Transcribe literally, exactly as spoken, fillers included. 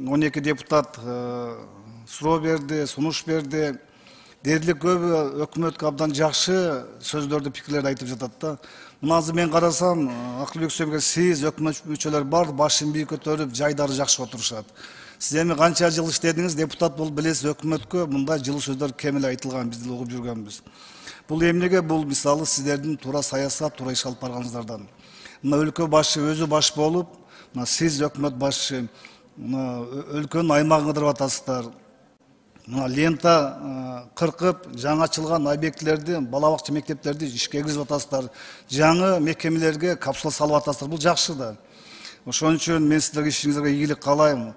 он эки депутат суроо берди, сунуш берди. Дээрлик көбү өкмөткө абдан жакшы сөздөрдү, пикирлерди айтып жатат да. Мына азыр мен карасам, Акылбек Сөбөков, сиз өкмөт мүчөлөр бар, башын бийик көтөрүп, жайдары жакшы отурушат. Сиз эми канча жыл иштедиңиз, депутат болуп билесиз, өкмөткө мындай жылы сөздөр кем эле айтылган, биз деле угуп жүргөнбүз. Бул эмнеге? Бул мисалы сиздердин туура саясат, туура иш алып барганыңыздардан. Мына өлкө башы өзү баш болуп, мына сиз өкмөт башы, мына өлкөнүн аймагын кыдырып атасыздар. Мына лента кыркып, жаңы ачылган объектилерди, бала бакча мектептерди ишке киргизип атасыздар. Жаңы мекемелерге капсула салып атасыздар. Бул жакшы да. Ошон үчүн мен сиздерге ишиңизге ийгилик каалайм.